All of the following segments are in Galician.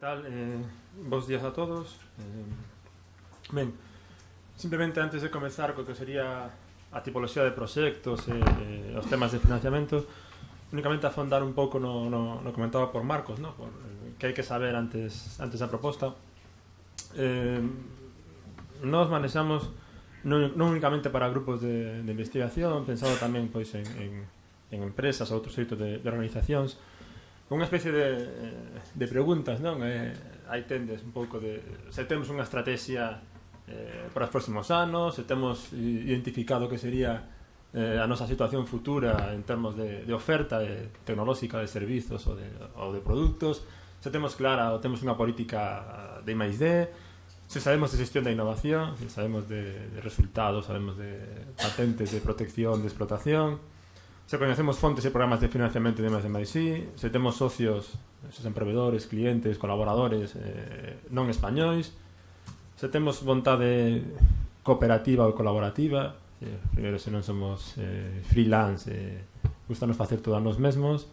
tal? Bos días a todos. Ben, simplemente antes de comezar co que sería a tipoloxía de proxectos e os temas de financiamento, únicamente afondar un pouco no comentado por Marcos, ¿no? Por, que hai que saber antes da proposta. Nos manexamos non únicamente para grupos de investigación, pensado tamén pois, en empresas ou outros xeitos de organizacións, unha especie de preguntas, non? Aí tendes un pouco de se temos unha estrategia para os próximos anos, se temos identificado que sería a nosa situación futura en termos de oferta tecnolóxica de servizos ou de produtos, se temos clara ou temos unha política de I+D, se sabemos de xestión da innovación, se sabemos de resultados, sabemos de patentes de protección, de explotación, se coñecemos fontes e programas de financiamento de I+D+I, se temos socios, se son proveedores, clientes, colaboradores non españois, se temos vontade cooperativa ou colaborativa, primeiro se non somos freelance, gustanos facer todo a nos mesmos,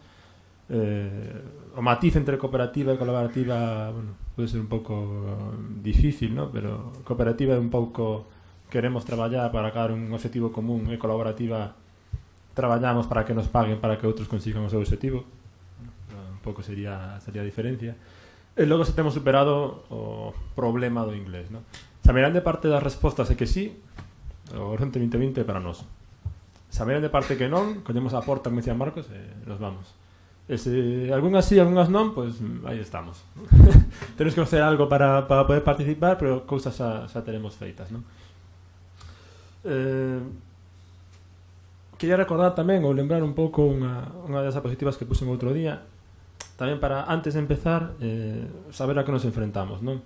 o matiz entre cooperativa e colaborativa, bueno, pode ser un pouco difícil, ¿no? Pero cooperativa é un pouco queremos traballar para acabar un objetivo común, e colaborativa traballamos para que nos paguen para que outros consigan o seu objetivo. Un pouco sería a diferencia. E logo se temos superado o problema do inglés, ¿no? Se a grande parte das respostas é que sí, o Horizonte 2020 para nós. Se a grande parte que non, collemos a porta, como dicía Marcos, e nos vamos. E se algunhas sí, algunhas non, pois aí estamos. Temos que facer algo para poder participar, pero cousas xa teremos feitas, ¿no? Quería recordar tamén ou lembrar un pouco unha das diapositivas que puse outro día, tamén para, antes de empezar, saber a que nos enfrentamos, non?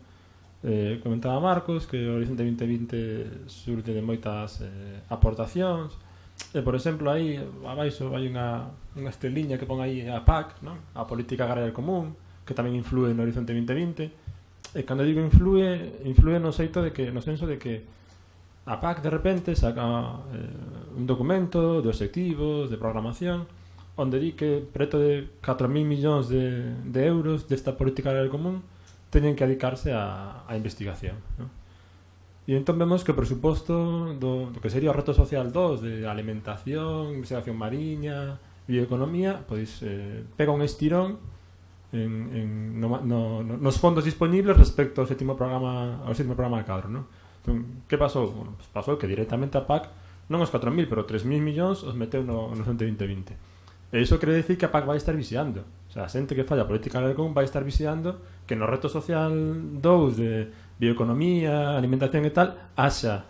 Comentaba Marcos que o Horizonte 2020 surte de moitas aportacións, por exemplo, aí abaixo hai unha estreliña que pon aí a PAC, non? A Política Agraria Común, que tamén influe no Horizonte 2020, e cando digo influe no senso de que a PAC de repente saca un documento de obxectivos, de programación, onde di que preto de 4.000 millóns de euros desta política agraria común teñen que dedicarse a investigación, ¿no? E entón vemos que o presuposto do que sería o reto social 2 de alimentación, investigación mariña, bioeconomía, pois pega un estirón nos fondos disponibles respecto ao sétimo programa cadro, ¿no? Entón, que pasou? Bueno, pues pasou que directamente a PAC non os 4.000, pero 3.000 millóns os meteu no Horizonte 2020. E iso quere decir que a PAC vai estar vixiando. O sea, a xente que falla a política agraria común vai estar vixiando que no reto social 2 de bioeconomía, alimentación e tal, haxa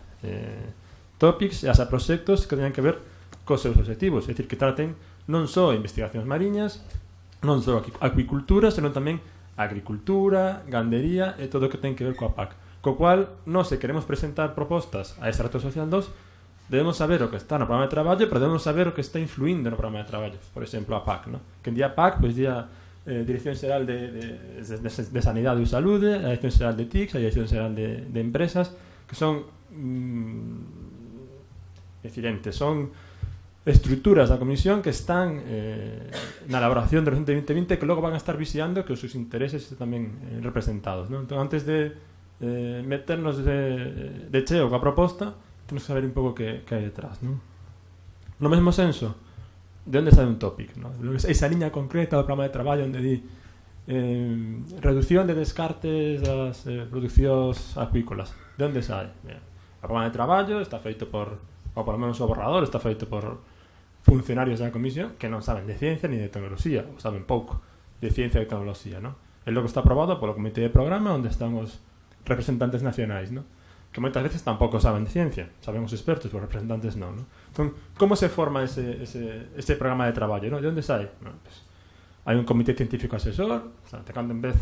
topics e haxa proxectos que teñan que ver cos seus objetivos. É dicir, que traten non só investigacións mariñas, non só acuicultura, senón tamén agricultura, gandería e todo o que ten que ver coa PAC. Co cual, nós, se queremos presentar propostas a este reto social 2, debemos saber o que está no programa de traballo, pero debemos saber o que está influindo no programa de traballo. Por exemplo, a PAC, ¿no? Que en día PAC, pois día Dirección Xeral de Sanidade e Saúde, a Dirección Xeral de TICS, a Dirección Xeral de Empresas, que son son estruturas da comisión que están na elaboración do Horizonte 2020, que logo van a estar vixiando que os seus intereses estén tamén representados, ¿no? Entón, antes de meternos de cheo coa proposta, temos que saber un pouco que hai detrás, non? No mesmo senso, de onde sai un topic, non? Esa liña concreta do programa de traballo onde di reducción de descartes das producións acuícolas, de onde sai? O programa de traballo está feito por, ou polo menos o borrador está feito por funcionarios da comisión que non saben de ciencia ni de tecnoloxía, ou saben pouco de ciencia e tecnoloxía, non? É logo está aprobado polo comité de programa onde están os representantes nacionais, ¿no? Que moitas veces tampouco saben de ciencia, saben os expertos, os representantes non, ¿no? Entón, como se forma ese programa de traballo, ¿no? De onde sai? Bueno, pues, hai un comité científico asesor, o sea, de cando en vez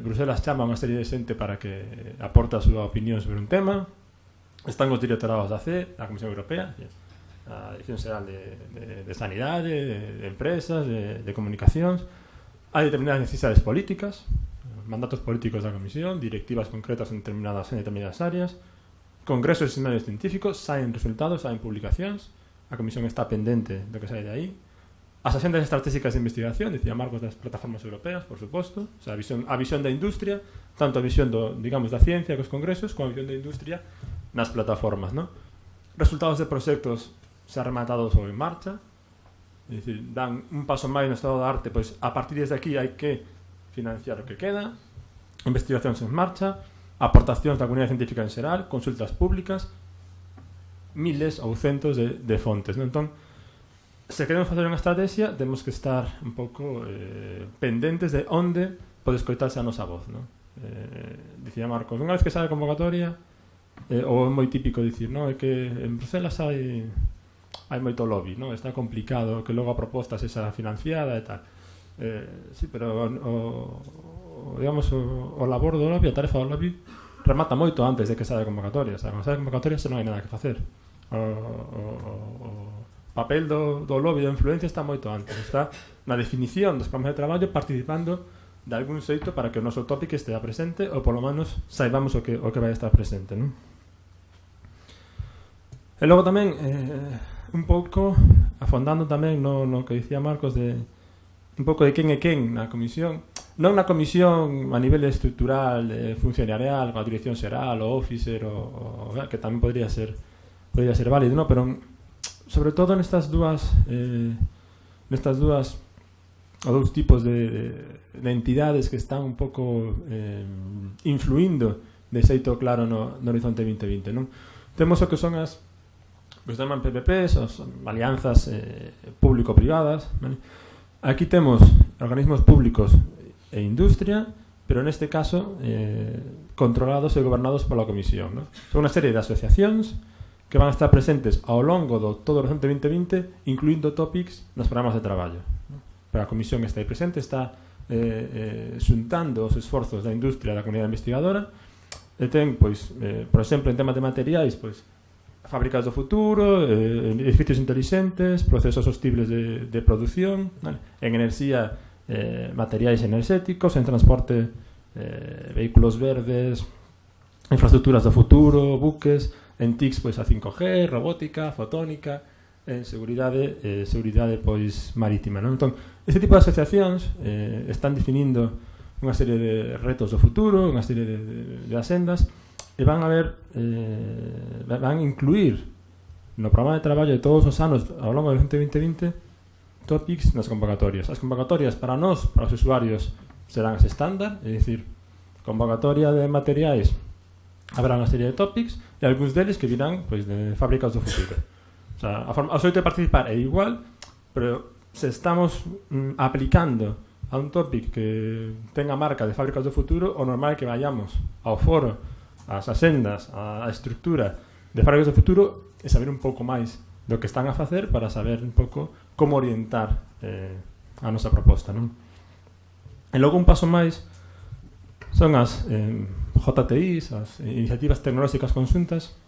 Bruselas chama a unha serie de xente para que aporte a súa opinión sobre un tema, están os directorados da CE, da Comisión Europea, a Dirección Xeral de Sanidade, de Empresas, de Comunicacións, hai determinadas necesidades políticas, mandatos políticos da comisión, directivas concretas en determinadas áreas, congresos e seminarios científicos, saen resultados, saen publicacións, a comisión está pendente do que sai de aí, as axendas estratégicas de investigación, dicía Marcos, das plataformas europeas, por suposto, o sea, a visión da industria, tanto a visión digamos, da ciencia cos congresos, como a visión da industria nas plataformas, ¿no? Resultados de proxectos xa rematados ou en marcha, é dicir, dan un paso máis no estado da arte, pois a partir de aquí hai que financiar o que queda, investigacións en marcha, aportacións da comunidade científica en xeral, consultas públicas, miles ou centos de fontes, ¿no? Entón, se queremos facer unha estrategia, temos que estar un pouco pendentes de onde pode escoitarse a nosa voz, ¿no? Dicía Marcos, unha vez que sabe a convocatoria, ou é moi típico dicir, ¿no? É que en Bruselas hai moito lobby, ¿no? Está complicado que logo a proposta sexa financiada e tal. Sí, pero digamos, o labor do lobby, a tarefa do lobby remata moito antes de que saia a convocatoria. O sea, cando saia a convocatoria xa non hai nada que facer. O papel do lobby da influencia está moito antes. Está na definición dos programas de traballo, participando de algún xeito para que o noso tópico estea presente, ou polo menos saibamos o que vai estar presente, non? E logo tamén un pouco afondando tamén no que dicía Marcos, de un pouco de quen é quen na comisión, non na comisión a nivel estructural, funcionarial, coa dirección xeral, o officer, que tamén podría ser válido, ¿no? Pero sobre todo nestas dúas ou dous tipos de entidades que están un pouco influindo de xeito claro no Horizonte 2020, non? Temos o que son as que se chaman PPPs, as alianzas público-privadas, ¿vale? Aquí temos organismos públicos e industria, pero neste caso controlados e gobernados pola Comisión, ¿no? Son unha serie de asociacións que van a estar presentes ao longo do todo o Horizonte 2020, incluindo topics nos programas de traballo, ¿no? Pero a Comisión está aí presente, está xuntando os esforzos da industria e da comunidade investigadora, e ten, pois, por exemplo, en temas de materiais, pois, fábricas do futuro, edificios inteligentes, procesos sostibles de produción, ¿vale? En enerxía, materiais enerxéticos, en transporte, vehículos verdes, infraestructuras do futuro, buques, en TICs, pois, a 5G, robótica, fotónica, en seguridade pois marítima, non? Entón, este tipo de asociacións están definindo unha serie de retos do futuro, unha serie de asendas, e van a incluir no programa de traballo de todos os anos ao longo do 2020 topics nas convocatorias. As convocatorias para nós, para os usuarios, serán as estándar, é dicir, convocatoria de materiais, habrá unha serie de topics e algúns deles que virán, pois, de fábricas do futuro. O sea, a xeito de participar é igual, pero se estamos aplicando a un topic que tenga marca de fábricas do futuro, o normal é que vayamos ao foro, ás asendas, a estructura de fábricas do futuro e saber un pouco máis do que están a facer para saber un pouco como orientar a nosa proposta, non? E logo un paso máis son as JTIs, as iniciativas tecnolóxicas conxuntas,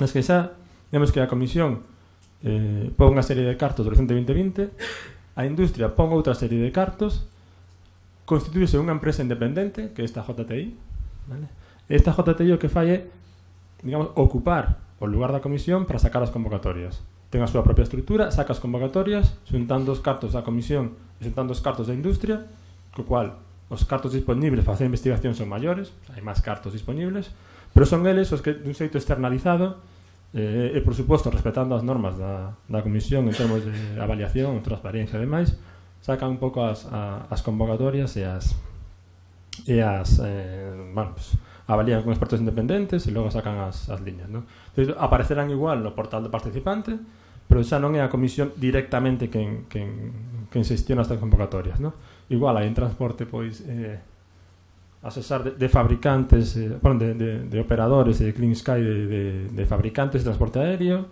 nas que xa vemos que a Comisión pon unha serie de cartos do Horizonte 2020, a industria pon outra serie de cartos, constituíse unha empresa independente, que é esta JTI, vale? Esta JTI o que fai é, digamos, ocupar o lugar da Comisión para sacar as convocatorias. Ten a súa propia estrutura, saca as convocatorias, xuntando os cartos da Comisión e xuntando os cartos da industria, co cual os cartos disponibles para facer investigación son maiores, hai máis cartos disponibles, pero son eles os que, dun xeito externalizado, e, por suposto, respetando as normas da Comisión en termos de avaliación, transparencia e demais, sacan un pouco as convocatorias e bueno, pues, avalían con expertos independentes e logo sacan as liñas, ¿no? Entonces, aparecerán igual no portal do participante, pero xa non é a Comisión directamente quen xestiona estas convocatorias, ¿no? Igual hai en transporte, pois, asesar de fabricantes, de operadores de Clean Sky, de fabricantes de transporte aéreo,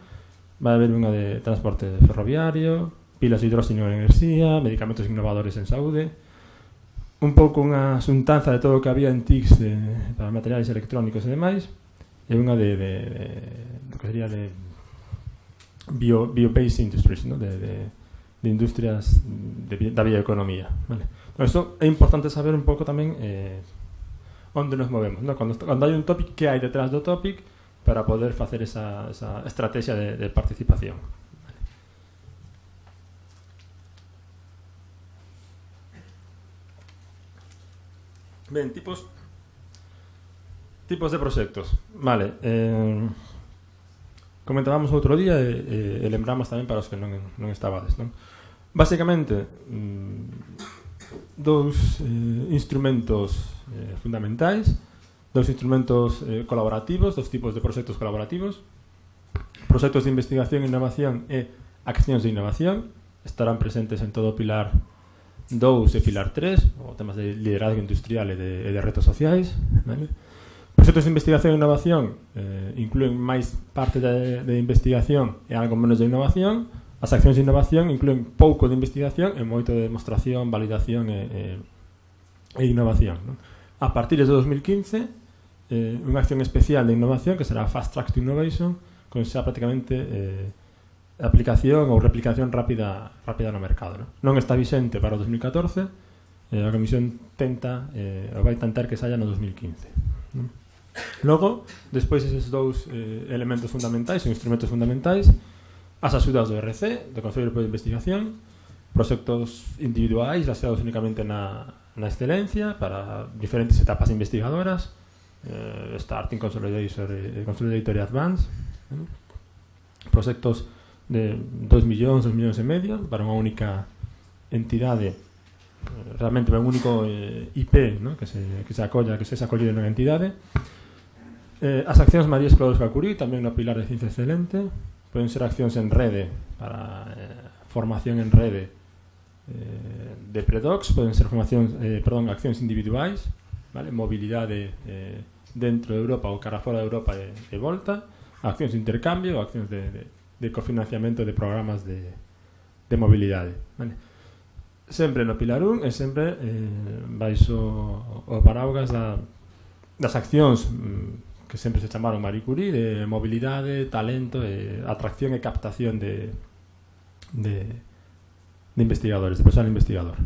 vai haber unha de transporte ferroviario, pilas de hidróxeno en enerxía, medicamentos innovadores en saúde, un pouco unha xuntanza de todo o que había en TICs para materiais electrónicos e demais, e unha de que sería de bio-based industries, ¿no? de industrias da bioeconomía, vale? Por isto é importante saber un pouco tamén onde nos movemos, ¿no? Cando hai un topic, que hai detrás do topic para poder facer esa estrategia de participación. Ben, tipos de proxectos. Vale, comentábamos outro día e lembramos tamén para os que non estabades, non? Básicamente, dous instrumentos fundamentais, dous instrumentos colaborativos, dos tipos de proxectos colaborativos, proxectos de investigación e innovación e accións de innovación. Estarán presentes en todo o pilar 2 e pilar 3, o temas de liderazgo industrial e de retos sociais, vale? Proxectos de investigación e innovación incluen máis parte de investigación e algo menos de innovación. As accións de innovación incluen pouco de investigación e moito de demostración, validación e innovación, non? A partir de 2015, unha acción especial de innovación que será Fast Track to Innovation, con xa prácticamente aplicación ou replicación rápida no mercado, non está vixente para o 2014. A Comisión vai tentar que saia no 2015, non? Logo, despois eses dous elementos fundamentais ou instrumentos fundamentais, as axudas do RC, do Consello Europeo de Investigación, proxectos individuais baseados únicamente na excelencia para diferentes etapas investigadoras, Starting, Consolidator e Advance, proxectos de 2 millóns e medio para unha única entidade, realmente un único IP, ¿no? que se acollido nunha entidade. As accións María Esclodosca Curie, tamén no pilar de ciencia excelente, poden ser accións en rede para formación en rede de predocs, poden ser accións individuais, vale? Mobilidade dentro de Europa ou cara fora de Europa e volta, accións de intercambio, accións de cofinanciamento de programas de mobilidade, vale? Sempre no pilar 1 e sempre baixo o paraugas das accións que sempre se chamaron Marie Curie, de mobilidade, talento, atracción e captación de investigadores, de personal investigador.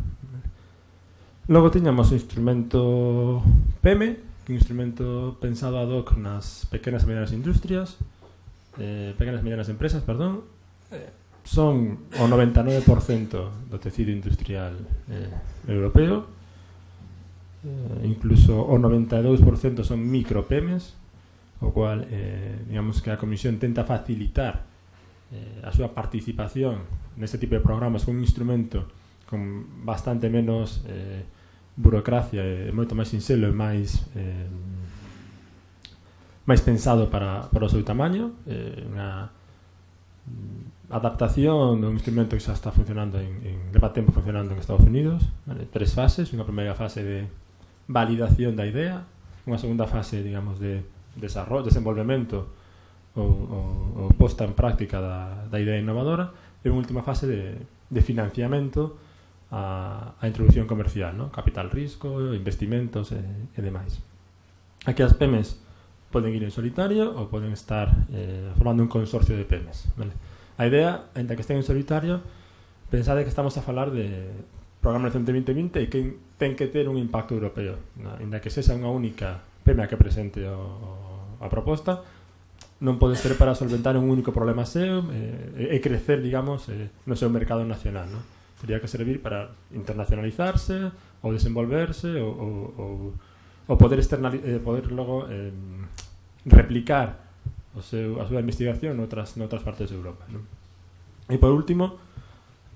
Logo tiñamos o instrumento PEME, que é un instrumento pensado ad hoc nas pequenas e medianas industrias, pequenas e medianas empresas, perdón. Son o 99% do tecido industrial europeo, incluso o 92% son micropemes, o cual digamos que a Comisión tenta facilitar a súa participación neste tipo de programas con un instrumento con bastante menos burocracia e moito máis sinxelo e máis pensado para o seu tamaño, unha adaptación dun instrumento que xa está funcionando leva tempo funcionando en Estados Unidos, vale? 3 fases, unha primeira fase de validación da idea, unha segunda fase, digamos, de desarrollo, desenvolvemento ou posta en práctica da idea innovadora, e unha última fase de financiamento a introducción comercial, ¿no? Capital risco, investimentos e demais. Aquí as PEMES poden ir en solitario ou poden estar formando un consorcio de PEMES, vale? A idea, ainda que estén en solitario, pensade que estamos a falar de Programa Horizonte 2020 e que ten que ter un impacto europeo, ainda que sexa unha única PEME que presente a proposta, non pode ser para solventar un único problema seu e crecer, digamos, no seu mercado nacional, ¿no? Tería que servir para internacionalizarse ou desenvolverse ou poder logo replicar a súa investigación noutras partes de Europa, ¿no? E por último,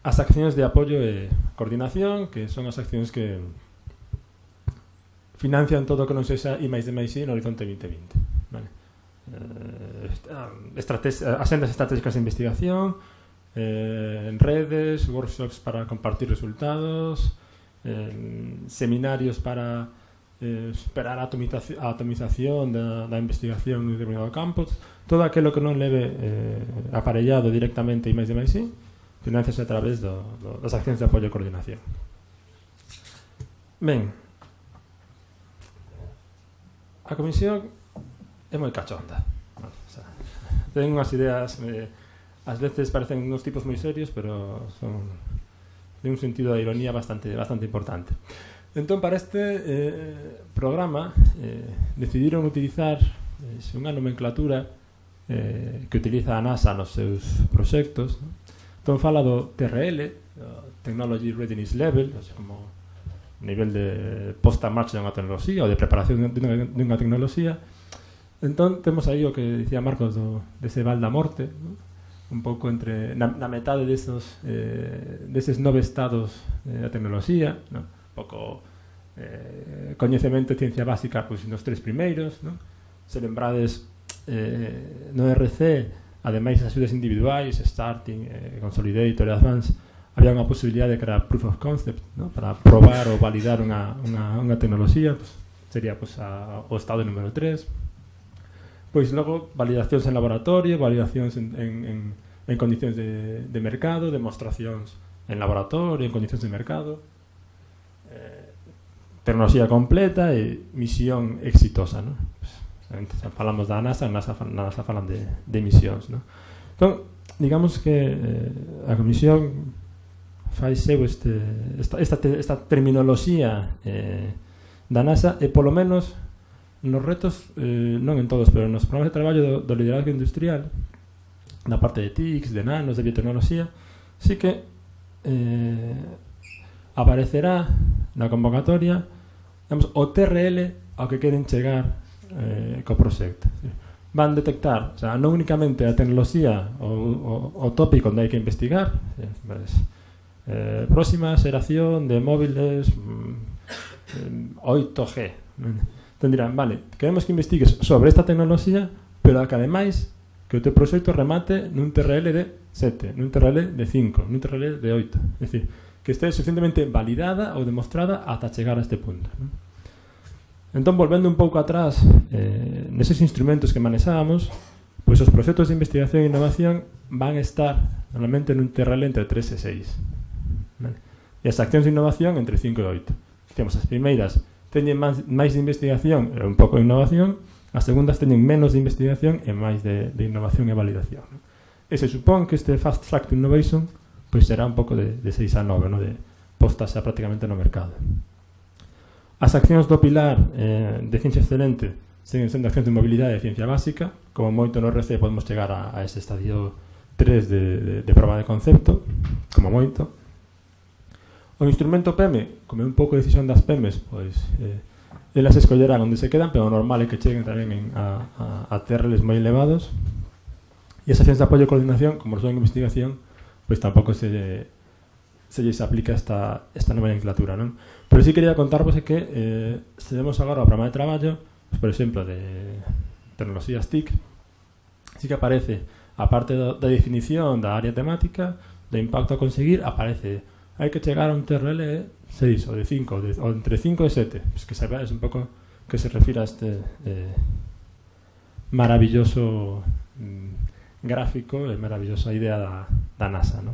as accións de apoio e coordinación, que son as accións que financian todo o que non sexa I+D+I no Horizonte 2020, vale? Asendas estratégicas de investigación, en redes, workshops para compartir resultados, seminarios para superar a atomización da investigación en determinado campo. Todo aquilo que non leve aparellado directamente I+D+I financiase a través das accións de apoio e coordinación. Ben, a Comisión é moi cachonda, ten unhas ideas, ás veces parecen uns tipos moi serios, pero son de un sentido de ironía bastante importante. Entón, para este programa decidiron utilizar unha nomenclatura que utiliza a NASA nos seus proxectos, ¿no? Entón fala do TRL, Technology Readiness Level, como nivel de posta en marcha de unha tecnoloxía ou de preparación de unha tecnoloxía. Entón, temos aí o que dicía Marcos dese val da morte, ¿no? Un pouco entre na metade deses 9 estados da tecnoloxía, ¿no? Un pouco coñecemento e ciencia básica pois, nos 3 primeiros, ¿no? Se lembrades no RC, ademais das axudas individuais, Starting, Consolidator e Advance, había unha posibilidade de crear proof of concept, ¿no? Para probar ou validar unha tecnoloxía, pues, sería pues, o estado número 3. Pois logo, validacións en laboratorio, validacións en condicións de mercado, demostracións en laboratorio, en condicións de mercado, tecnoloxía completa e misión exitosa, ¿no? Pues, falamos da NASA falan de misións, ¿no? Entón, digamos que a Comisión fai seu esta terminoloxía da NASA e polo menos nos retos, non en todos, pero nos programas de traballo do liderazgo industrial, na parte de TICs, de nanos, de biotecnoloxía, sí que aparecerá na convocatoria, digamos, o TRL ao que queren chegar co proxecto. Van detectar, o sea, non únicamente a tecnoloxía o tópico onde hai que investigar, próxima xeración de móviles 8G. Entón dirán, vale, queremos que investigues sobre esta tecnoloxía, pero que ademais que o teu proxecto remate nun TRL de 7, nun TRL de 5, nun TRL de 8. É dicir, que este suficientemente validada ou demostrada ata chegar a este punto, ¿no? Entón, volvendo un pouco atrás neses instrumentos que manexábamos, pois os proxectos de investigación e innovación van estar normalmente nun TRL entre 3 e 6, ¿vale? E as accións de innovación entre 5 e 8. Temos as primeiras teñen máis de investigación e un pouco de innovación, as segundas teñen menos de investigación e máis de innovación e validación, ¿no? E se supón que este Fast Track to Innovation pois será un pouco de 6 a 9, ¿no? De postas xa prácticamente no mercado. As accións do pilar de ciencia excelente seguen sendo accións de mobilidade e ciencia básica, como moito no RC podemos chegar a ese estadio 3 de prova de concepto, como moito. O instrumento PEME, como é un pouco de decisión das PEMES, pois elas escollerán onde se quedan, pero o normal é que cheguen tamén a TRLs moi elevados. E as accións de apoio e coordinación, como son en investigación, pois tampouco se lles aplica esta nomenclatura, non? Pero sí quería contarvos que se vemos agora o programa de traballo, pues, por exemplo, de tecnoloxías TIC, sí que aparece, a parte da definición da área temática, do impacto a conseguir, aparece hai que chegar a un TRL de 6 ou de 5 ou entre 5 e 7, pues que saibades un pouco que se refira a este maravilloso gráfico e maravillosa idea da NASA, ¿no?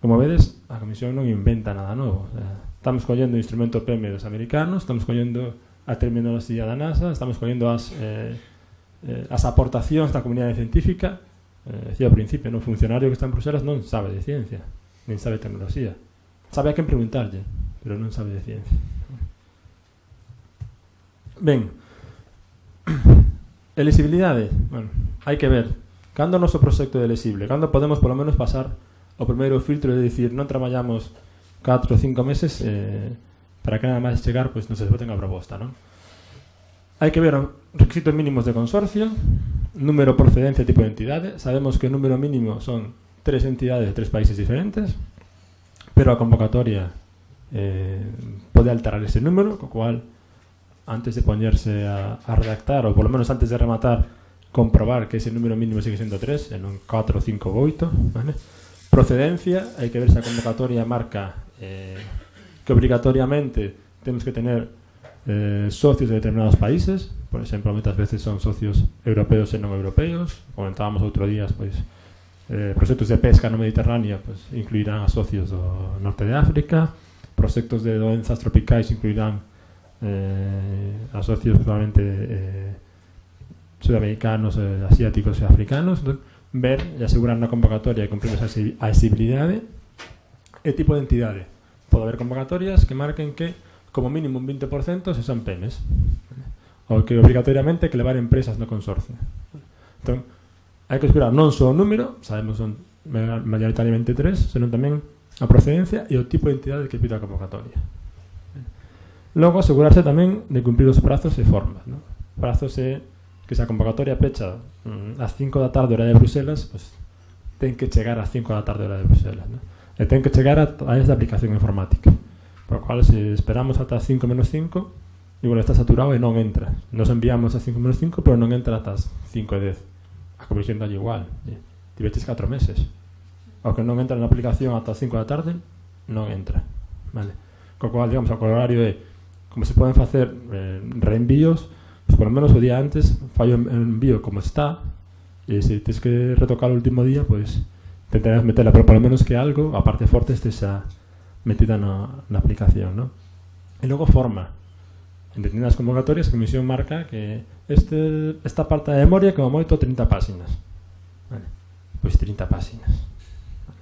Como vedes, a Comisión non inventa nada novo, o sea, estamos collendo o instrumento PEME dos americanos, estamos collendo a terminoloxía da NASA, estamos collendo as aportacións da comunidade científica. Decía ao principio, no funcionario que está en Bruselas non sabe de ciencia, nin sabe de tecnoloxía. Sabe a quen preguntarlle, pero non sabe de ciencia. Ben, elisibilidade, bueno, hai que ver cando o noso proxecto é elisible, cando podemos polo menos pasar o primeiro filtro de dicir non traballamos 4 ou 5 meses para que nada máis chegar, pois non se voten a proposta, non? Hai que ver os requisitos mínimos de consorcio, número, procedencia e tipo de entidade. Sabemos que o número mínimo son 3 entidades de 3 países diferentes, pero a convocatoria pode alterar ese número, co cual antes de poñerse a redactar, ou polo menos antes de rematar, comprobar que ese número mínimo sigue sendo 3 e non 4, 5 ou 8, ¿vale? Procedencia, hai que ver se a convocatoria marca que obrigatoriamente temos que tener socios de determinados países. Por exemplo, moitas veces son socios europeos e non europeos. Comentábamos outro día, pois, proxectos de pesca no Mediterráneo, pois, incluirán a socios do norte de África. Proxectos de doenzas tropicais incluirán a socios probablemente sudamericanos, asiáticos e africanos. Entón, ver e asegurar na convocatoria que cumprimos a accesibilidade e tipo de entidade. Pode haber convocatorias que marquen que como mínimo un 20% se son PEMES, ou que obrigatoriamente que levar empresas no consorcio. Entón, hai que escurar non só o número, sabemos son maioritariamente 3, senón tamén a procedencia e o tipo de entidade que pide a convocatoria. Logo, asegurarse tamén de cumprir os prazos e formas, ¿no? Prazos é que se a convocatoria pecha ás 5 da tarde hora de Bruselas, pues, ten que chegar ás 5 da tarde hora de Bruselas, ¿no? E ten que chegar a través da aplicación informática, por lo cual, se esperamos ata as 5 menos 5, igual está saturado e non entra. Nos enviamos ás 5 menos 5, pero non entra ata as 5 e 10. A comisión dalle igual, tiveches 4 meses. O que non entra na aplicación ata as 5 da tarde, non entra, vale? Co cual, digamos, o horario é como se poden facer reenvíos, pues por lo menos o día antes fallo o envío como está, e se tens que retocar o último día, pues intentarás metela, pero por lo menos que algo, a parte forte, estexa metida na aplicación, ¿no? E logo forma. En determinadas convocatorias, a comisión marca que esta parte de memoria como moito 30 páxinas. Vale. Pois 30 páxinas. Vale.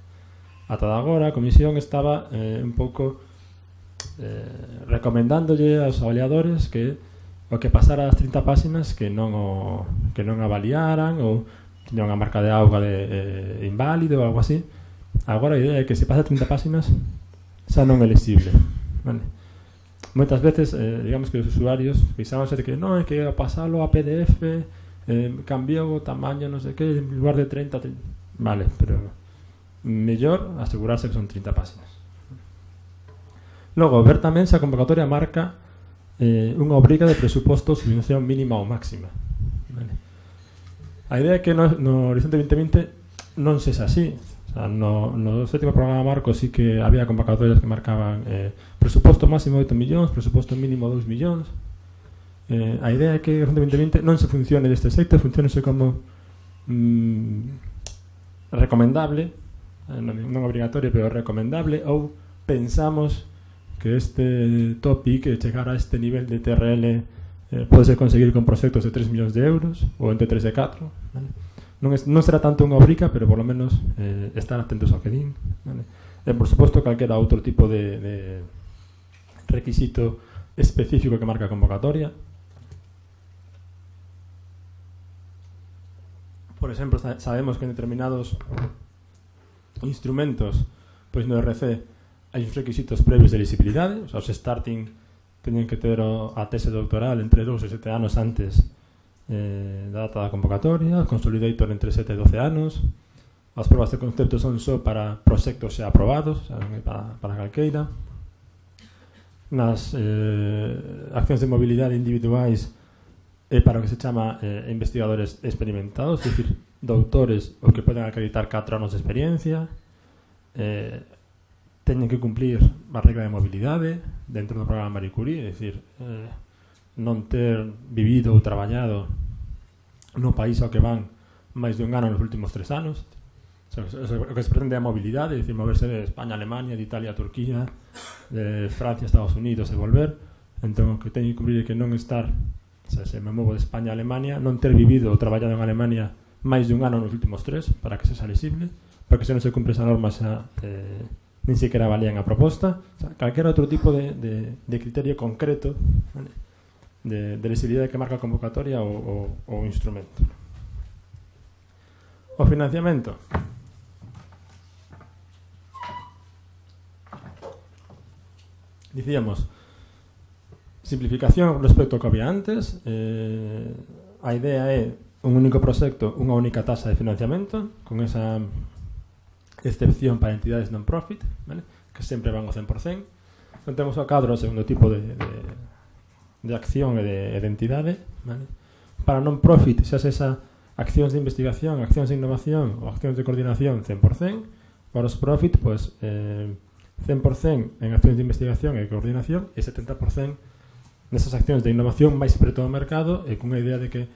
Ata de agora a comisión estaba un pouco recomendándolle aos avaliadores que o que pasara as 30 páxinas que non avaliaran ou tiña unha marca de auga de inválido ou algo así. Agora a idea é que se pasa 30 páxinas xa non é lexible, vale? Moitas veces, digamos que os usuarios pensábanse de que non, é que pasalo a PDF cambiou o tamaño, non sei que, en lugar de 30, vale, pero mellor asegurarse que son 30 páxinas. Logo, ver tamén se a convocatoria marca unha obriga de presuposto subvención mínima ou máxima. Vale. A idea é que no Horizonte 2020 non se xa así. O sea, no sétimo programa marco sí que había convocatorias que marcaban presuposto máximo 8 millóns, presuposto mínimo 2 millóns. A idea é que o Horizonte 2020 non se funcione deste xeito, funcionese como recomendable, non obrigatorio, pero recomendable, ou pensamos que este topic, chegar a este nivel de TRL, pode ser conseguir con proxectos de 3 millóns de euros ou entre 3 e 4, vale? Non será tanto unha obriga, pero por lo menos estar atentos ao que din, vale? E por suposto calquera outro tipo de requisito específico que marca a convocatoria. Por exemplo, sabemos que en determinados instrumentos, pois no RC hai uns requisitos previos de elisibilidade, o sea, os starting teñen que ter a tese doctoral entre 2 e 7 anos antes da data da convocatoria, consolidator entre 7 e 12 anos, as probas de concepto son só para proxectos xa aprobados, o sea, para calqueira. Nas accións de mobilidade individuais é para o que se chama investigadores experimentados, é dicir, doutores o que poden acreditar 4 anos de experiencia, teñen que cumplir a regla de mobilidade dentro do programa Marie Curie, é dicir, non ter vivido ou traballado no país ao que van máis de un ano nos últimos 3 anos. O que se pretende é a mobilidade, é dicir, moverse de España a Alemania, de Italia a Turquía, de Francia a Estados Unidos e volver. Entón, o que teñen que cumprir é que non estar, o sea, se me movo de España a Alemania, non ter vivido ou traballado en Alemania máis de un ano nos últimos 3 para que se xa elegible, porque se non se cumpre esa norma xa nin sequera valían a proposta. O sea, calquera outro tipo de criterio concreto, vale, de elegibilidade que marca a convocatoria ou instrumento. O financiamento. Dicíamos, simplificación respecto ao que había antes. A idea é un único proxecto, unha única tasa de financiamento, con esa excepción para entidades non-profit, vale? Que sempre van ao 100%. Non temos ao cadro o segundo tipo de acción e de entidade, vale? Para non-profit, xa esa accións de investigación, accións de innovación ou accións de coordinación 100%. Para os profit, pues 100% en accións de investigación e coordinación e 70% nesas accións de innovación máis preto ao mercado e cunha idea de que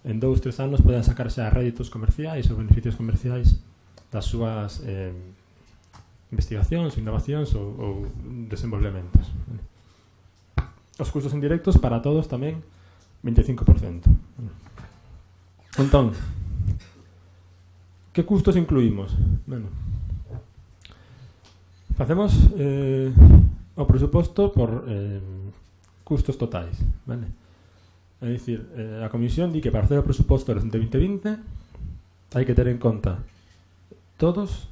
en 2-3 anos poden sacarse a réditos comerciais ou beneficios comerciais das súas investigacións, innovacións ou desenvolvementos. Os custos indirectos para todos tamén 25%. Entón, que custos incluímos? Bueno, facemos o presuposto por custos totais, vale? É dicir, a comisión di que para facer o presuposto do 2020 hai que ter en conta todos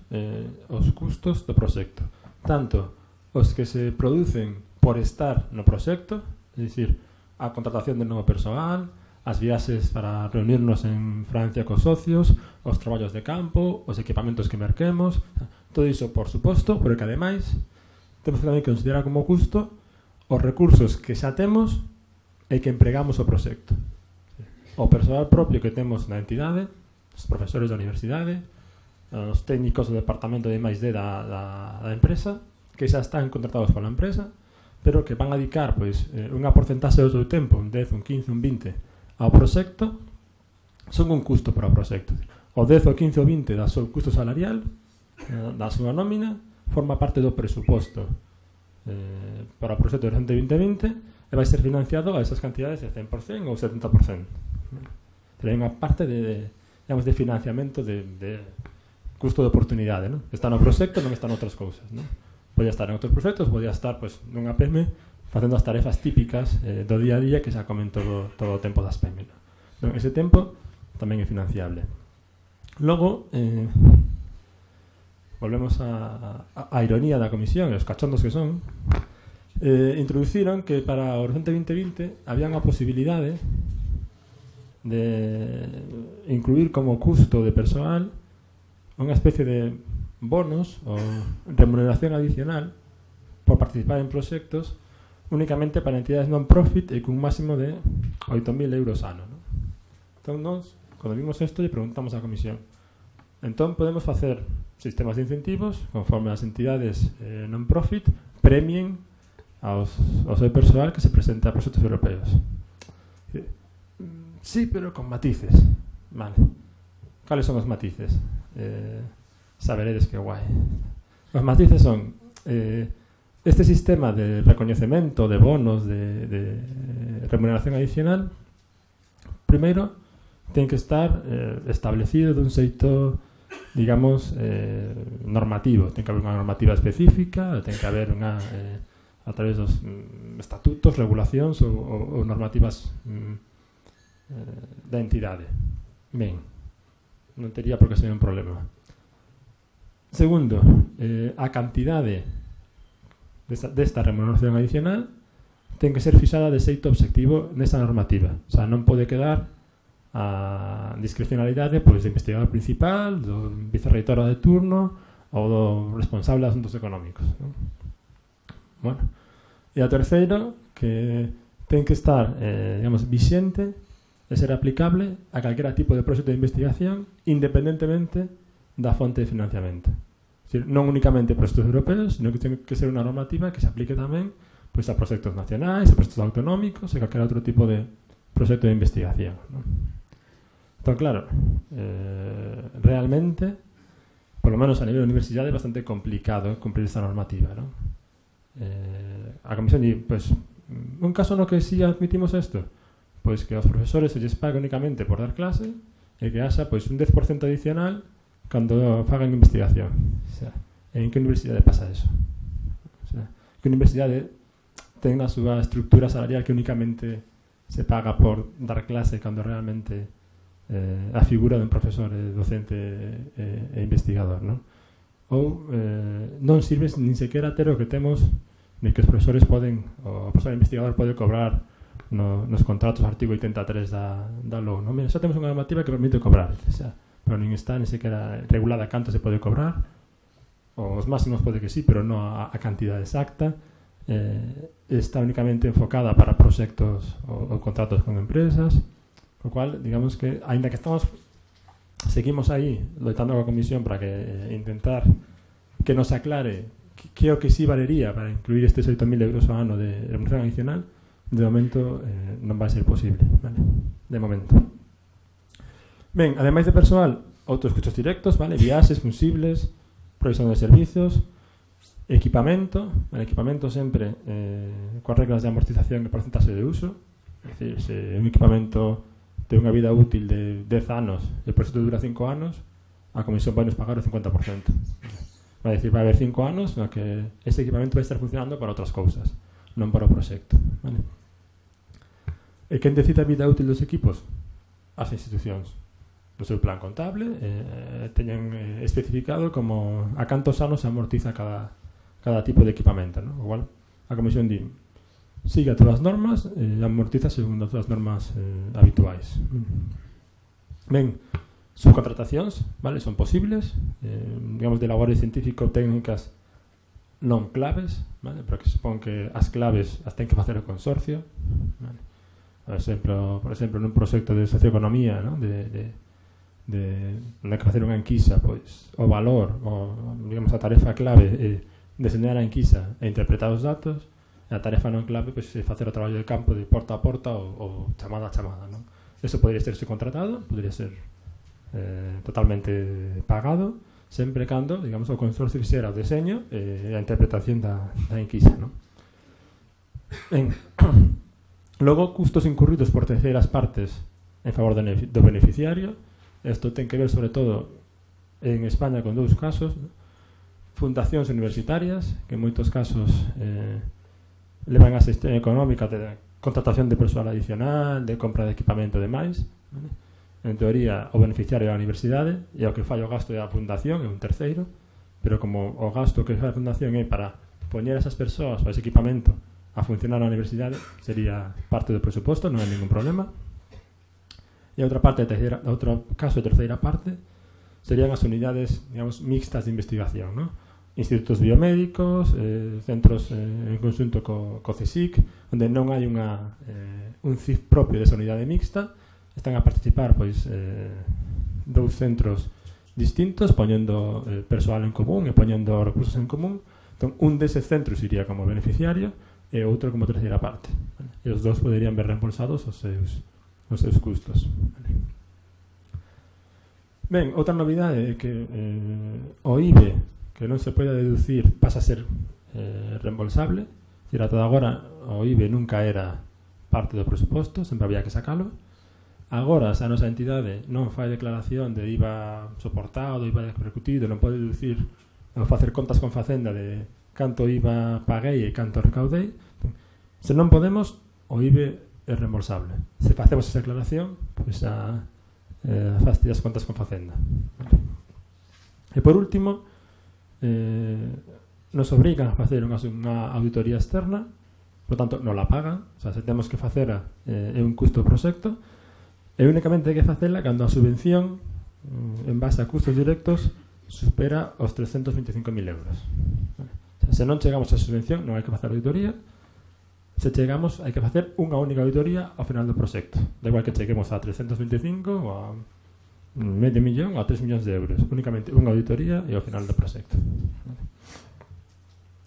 os custos do proxecto, tanto os que se producen por estar no proxecto, é dicir, a contratación de novo persoal, as viaxes para reunirnos en Francia cos socios, os traballos de campo, os equipamentos que merquemos, todo iso, por suposto, pero que ademais temos que tamén considerar como custo os recursos que xa temos e que empregamos o proxecto. O persoal propio que temos na entidade, os profesores da universidade, os técnicos do departamento de I+D da empresa, que xa están contratados pola empresa, pero que van a dedicar pois, unha porcentaxe do seu tempo, un 10, un 15, un 20, ao proxecto, son un custo para o proxecto. O 10, o 15, o 20 da seu custo salarial, da súa nómina, forma parte do presuposto para o proxecto de Horizonte 2020 e vai ser financiado a esas cantidades de 100% ou 70%. Pero hai unha parte de financiamento de custo de oportunidade, non? Está no proxecto, non está noutras cousas, non? Podía estar en outros proxectos, podía estar pois, nunha PEME facendo as tarefas típicas do día a día que xa comen todo o tempo das PEME. Non? Ese tempo tamén é financiable. Logo, volvemos a ironía da comisión e os cachondos que son, introduciron que para o Horizonte 2020 había unha posibilidade de incluir como custo de persoal unha especie de bonos ou remuneración adicional por participar en proxectos únicamente para entidades non-profit e cun máximo de 8.000 euros ano. ¿No? Entón, nós, cando vimos isto, lle preguntamos á comisión, entón podemos facer sistemas de incentivos conforme as entidades non-profit premien ao seu persoal que se presenta a proxectos europeos. Sí, pero con matices. Vale. Cales son os matices? Saberedes que guai. Os matices son este sistema de recoñecemento de bonos de remuneración adicional. Primeiro, ten que estar establecido dun xeito, digamos, normativo. Ten que haber unha normativa específica, ten que haber unha a través dos estatutos, regulacións ou normativas da entidade. Ben, non tería por que ser un problema. Segundo, a cantidade desta remuneración adicional ten que ser fixada de xeito obxectivo nesa normativa. O sea, non pode quedar a discrecionalidade pois, do investigador principal, do vicerreitor de turno ou do responsable de asuntos económicos. ¿No? Bueno, e a terceiro, que ten que estar, digamos, vixente e ser aplicable a calquera tipo de proxecto de investigación independentemente da fonte de financiamento. Es decir, non únicamente proxectos europeos, sino que ten que ser unha normativa que se aplique tamén pois, a proxectos nacionais, a proxectos autonómicos e calquera outro tipo de proxecto de investigación. ¿No? Entón, claro, realmente, por lo menos a nivel de universidade, é bastante complicado cumprir esta normativa. ¿No? A comisión di, pues, un caso no que si admitimos isto, pois que aos profesores se lles paga únicamente por dar clase e que haxa pois, un 10% adicional cando fagan investigación. O sea, en que universidade pasa eso? O sea, que universidade ten a súa estructura salarial que únicamente se paga por dar clase cando realmente a figura dun profesor docente e investigador, non? Ou non sirve nin sequera ter o que temos ni que os profesores poden, o profesor investigador pode cobrar nos contratos artigo 83 da LOU. ¿No? Mira, xa temos unha normativa que permite cobrar, xa, pero nin está ni sequera regulada canto se pode cobrar. Os máximos pode que sí, pero non a cantidad exacta. Está únicamente enfocada para proxectos ou contratos con empresas, co cual, digamos que, aínda que seguimos aí loitando coa comisión para que intentar que nos aclare que o que sí valería para incluir estes 8.000 euros ao ano de remuneración adicional. De momento non vai ser posible, vale? De momento. Ben, ademais de persoal, outros custos directos, vale? Viaxes, funsibles, provisión de servizos, equipamento, el equipamento sempre coas reglas de amortización e porcentaxe de uso. É dicir, se un equipamento ten unha vida útil de 10 anos e o proxecto dura 5 anos, a comisión vai nos pagar o 50%. Vai dicir, vai haber 5 anos no que ese equipamento vai estar funcionando para outras cousas, non para o proxecto, vale? E quen decide a vida útil dos equipos? As institucións. no seu plan contable teñen especificado como a cantos anos se amortiza cada tipo de equipamento, ¿no? Igual a comisión di sigue todas as normas e amortiza segundo as normas habituais. Ben, subcontratacións, vale, son posibles, digamos, de labores científico-técnicas non claves, vale, pero que supón que as claves as ten que facer o consorcio, vale. Por exemplo, nun proxecto de socioeconomía, ¿no? de que facer unha enquisa, pois o valor, digamos, a tarefa clave é deseñar a enquisa e interpretar os datos, e a tarefa non clave pois, é facer o traballo de campo de porta a porta ou chamada a chamada, ¿no? Eso podría ser subcontratado, podría ser totalmente pagado, sempre cando, digamos, o consorcio fixera o deseño e a interpretación da enquisa, ¿no? Ben, logo, custos incurridos por terceiras partes en favor do beneficiario. Isto ten que ver, sobre todo, en España con dous casos, ¿no? Fundacións universitarias, que en moitos casos levan a xestión económica de contratación de persoal adicional, de compra de equipamento e demais, ¿vale? En teoría, o beneficiario é a universidade e o que fai o gasto é a fundación, é un terceiro, pero como o gasto que fai a fundación é para poñer esas persoas ou ese equipamento a funcionar na universidade, sería parte do presuposto, non hai ningún problema. E outra parte, outro caso de terceira parte, serían as unidades, digamos, mixtas de investigación, ¿no? Institutos biomédicos, centros en conxunto co CSIC, onde non hai un CIF propio desa unidade mixta, están a participar pois dous centros distintos, poñendo persoal en común e poñendo recursos en común. Entón, un deses centros iría como beneficiario e outro como terceira parte, vale? E os dous poderían ver reembolsados os seus custos, vale? Ben, outra novidade é que o IBE, que non se pode deducir, pasa a ser reembolsable. Dicir, ata agora o IBE nunca era parte do presuposto, sempre había que sacalo. Agora, se a nosa entidade non fai declaración de IVA soportado, IVA repercutido, non pode deducir ou facer contas con Facenda de canto IVA paguei e canto recaudei. Se non podemos, o IVE é reembolsable. Se facemos esa declaración, pois faste as contas con Facenda. E por último, nos obrigan a facer unha auditoría externa, por tanto, non la pagan. O sea, se temos que facer é un custo do proxecto, e únicamente hai que facela cando a subvención en base a custos directos supera os 325.000 euros. O sea, se non chegamos a subvención non hai que facer auditoría. Se chegamos hai que facer unha única auditoría ao final do proxecto. Da igual que cheguemos a 325 ou a medio millón ou a 3 millóns de euros. Únicamente unha auditoría e ao final do proxecto.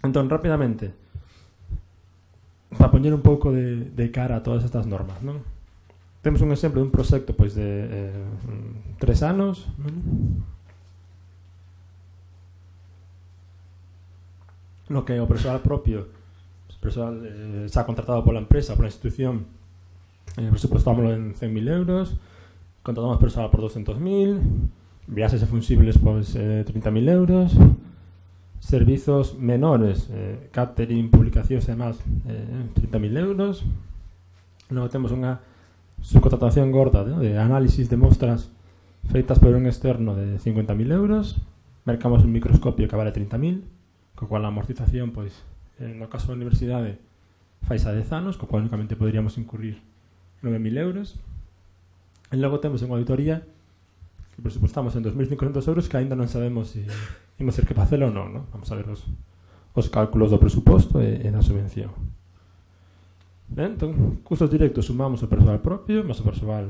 Entón, rápidamente, para poñer un pouco de cara a todas estas normas, non? Temos un exemplo dun proxecto pois de 3 anos, no que o persoal propio, persoal xa contratado pola empresa, pola institución, presupostámoslo en 100.000 euros, contratamos persoal por 200.000, viaxes e funsibles pois 30.000 euros, servizos menores, catering, publicacións e demás, 30.000 euros. Logo temos unha subcontratación gorda de análisis de mostras feitas por un externo de 50.000 euros. Mercamos un microscopio que vale 30.000, co cual a amortización, pois, no caso da universidade, fais a 10 anos, co cual únicamente poderíamos incurrir 9.000 euros. E logo temos unha auditoría que presupostamos en 2.500 euros, que ainda non sabemos se imos ter que facelo ou non, ¿no? Vamos a ver os cálculos do presuposto e da subvención. Ben, entón, custos directos sumamos o persoal propio, máis o persoal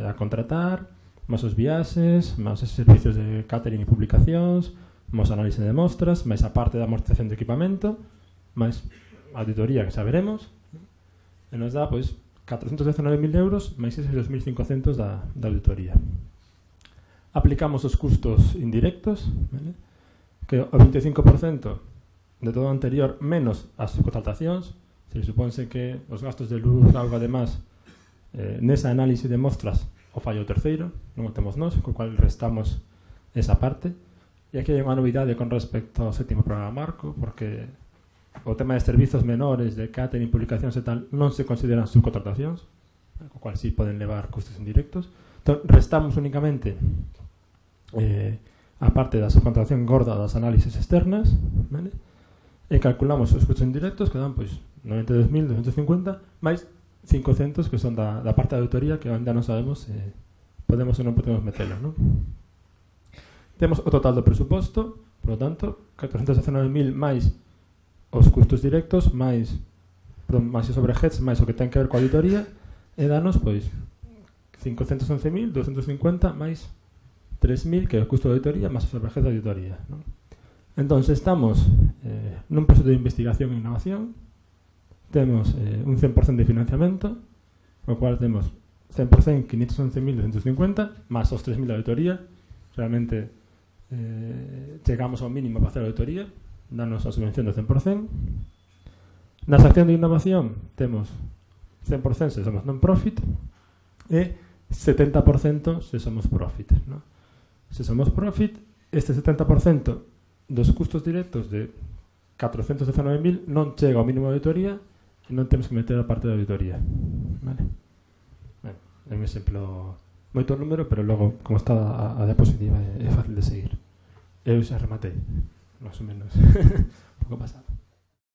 a contratar, máis os viaxes, máis os servicios de catering e publicacións, máis análise de mostras, máis a parte da amortización de equipamento, máis a auditoría que xa veremos, e nos dá, pois, 419.000 euros máis eses 2.500 da auditoría. Aplicamos os custos indirectos, ¿vale? Que o 25% de todo o anterior menos as subcontratacións. Se supónse que os gastos de luz, auga, además, nesa análise de mostras o fallo terceiro, non o temos nós, co cual restamos esa parte. E aquí hai unha novidade con respecto ao sétimo programa marco, porque o tema de servizos menores, de catering, publicacións e tal, non se consideran subcontratacións, co cual sí poden levar custos indirectos. Restamos únicamente a parte da subcontratación gorda das análisis externas, vale? E calculamos os custos indirectos que dan pois 92.250 máis 500 que son da parte da auditoría que ainda non sabemos se podemos ou non podemos metelo, non? Temos o total do presuposto, por lo tanto 419.000 máis os custos directos máis os overheads máis o que ten que ver coa auditoría e danos pois 511.250 máis 3.000 que é o custo de auditoría máis os overheads de auditoría, non? Entón, estamos nun proceso de investigación e innovación, temos un 100% de financiamento, o cual temos 100% 511.250 máis os 3.000 de auditoría. Realmente chegamos ao mínimo para hacer a auditoría, danos a subvención do 100%. Na sección de innovación temos 100% se somos non-profit e 70% se somos profit, ¿no? Se somos profit, este 70% dos custos directos de 419.000 non chega ao mínimo de auditoría e non temos que meter a parte da auditoría, vale? Bueno, é un exemplo moito número, pero logo, como está a diapositiva, é fácil de seguir. Eu xa rematei, máis ou menos, un pouco pasado.